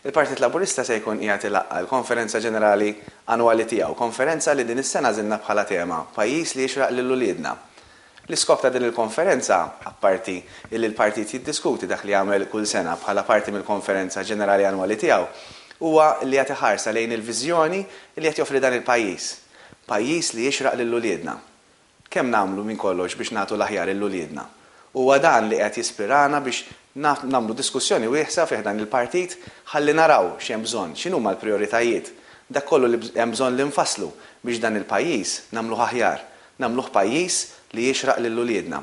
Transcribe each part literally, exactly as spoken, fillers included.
Il-Partit Laburista se jkun qiegħed ilaqqa' l-Konferenza Ġenerali Annwali tiegħu, konferenza li din is-sena għażilna bħala tema "Pajjiż li jixraq lil uliedna". L-iskop ta' din il-konferenza, apparti illi l-partit jiddiskuti dak li jagħmel kull sena bħala parti mill-Konferenza Ġenerali Annwali tiegħu, huwa li jagħti ħarsa lejn il-viżjoni li qed joffri dan il-pajjiż. Pajjiż li jixraq lil uliedna. Kemm nagħmlu minn kollox biex nagħtu l-aħjar lil uliedna? Huwa dan li qed jispirana biex nagħmlu diskussjoni wiesgħa fih dan il-partit ħalli naraw x'hemm bżonn, x'inhuma l-prijoritajiet, dak kollu li hemm bżonn li nfasslu biex dan il-pajjiż nagħmluh aħjar, nagħmluh pajjiż li jixraq lil uliedna.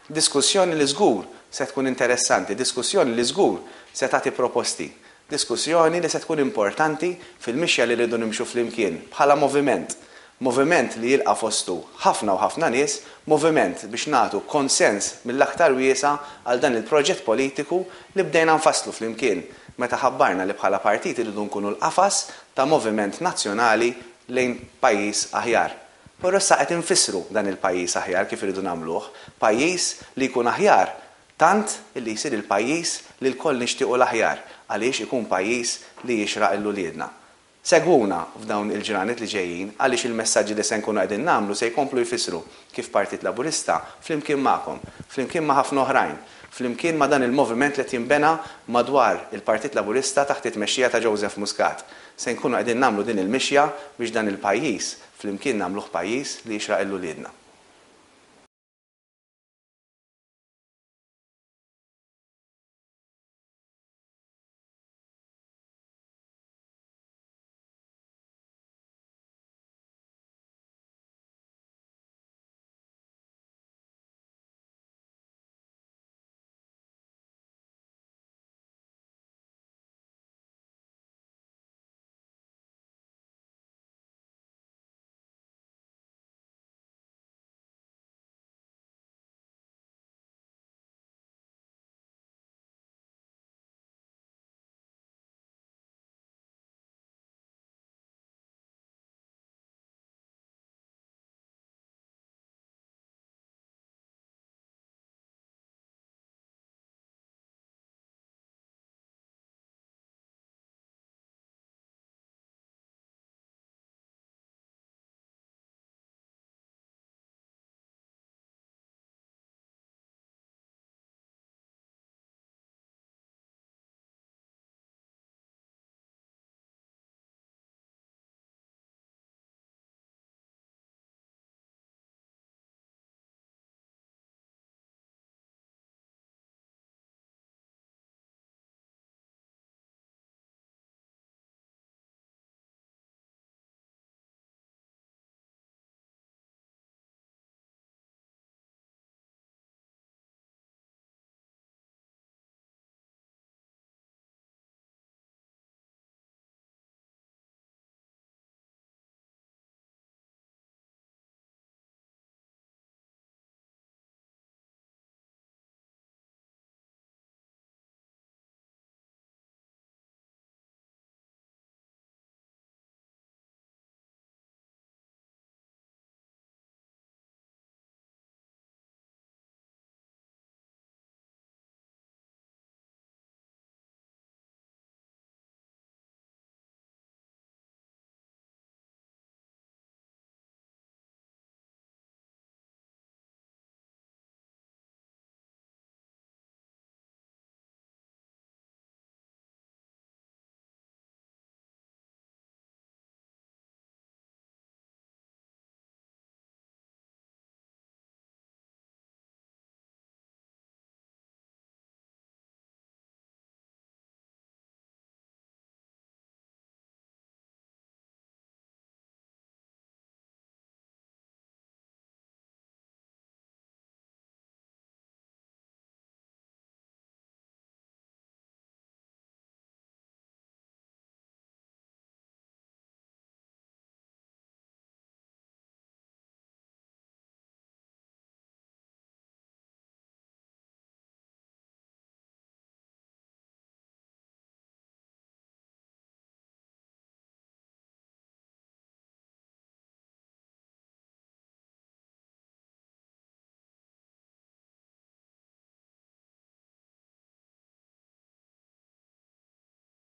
Diskussjoni li żgur se tkun interessanti, diskussjoni li żgur se tagħti proposti, diskussjoni li se tkun importanti fil-mixja li rridu nimxu flimkien bħala moviment. Moviment li jilqa' fostu ħafna u ħafna nies, moviment biex nagħtu konsens mill-aktar wiesa' għal dan il-proġett politiku li bdejna nfasslu flimkien meta ħabbarna li bħala partit irridu nkunu l-qafas ta' moviment nazzjonali lejn pajjiż aħjar. Però issa qed infissru dan il-pajjiż aħjar kif irridu nagħmluh, pajjiż li jkun aħjar tant illi jsir il-pajjiż li lkoll nixtiequ l-aħjar għaliex ikun pajjiż li jixraq lil uliedna. Segwuna f'dawn il-ġranet li ġejjin għaliex il-messaġġi li se nkunu qegħdin nagħmlu se jkomplu jfissru kif Partit Laburista flimkien magħkom, flimkien ma' ħafna oħrajn, flimkien ma' dan il-moviment li qed jinbena madwar il-Partit Laburista taħt it-tmexxija ta' Joseph Muscat. Se nkunu qegħdin nagħmlu din il-mixja biex dan il-pajjiż flimkien nagħmluh pajjiż li jixraq lil uliedna.